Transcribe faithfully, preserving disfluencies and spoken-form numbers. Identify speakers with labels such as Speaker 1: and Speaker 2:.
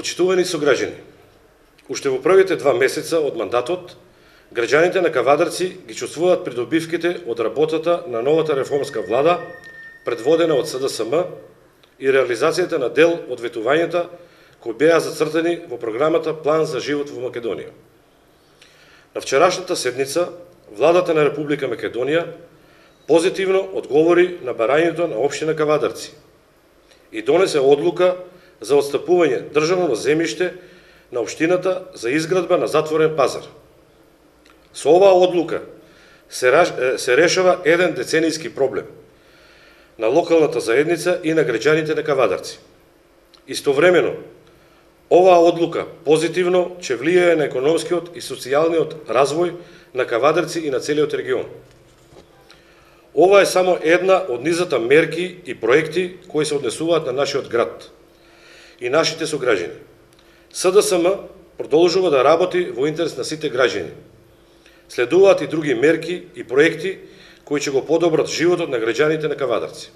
Speaker 1: Почитувани сограѓани, уште во првите два месеца од мандатот, граѓаните на Кавадарци ги чувствуваат придобивките од работата на новата реформска влада, предводена од С Д С М, и реализацијата на дел од ветувањата кои беа зацртани во програмата План за живот во Македонија. На вчерашната седница, владата на Република Македонија позитивно одговори на барањето на општина Кавадарци и донесе одлука за отстапување државно земјиште на општината за изградба на затворен пазар. Со оваа одлука се решава еден деценијски проблем на локалната заедница и на граѓаните на Кавадарци. Истовремено, оваа одлука позитивно ќе влијае на економскиот и социјалниот развој на Кавадарци и на целиот регион. Ова е само една од низата мерки и проекти кои се однесуваат на нашиот град и нашите сограѓани. С Д С М продолжува да работи во интерес на сите граѓани. Следуваат и други мерки и проекти кои ќе го подобрат животот на граѓаните на Кавадарци.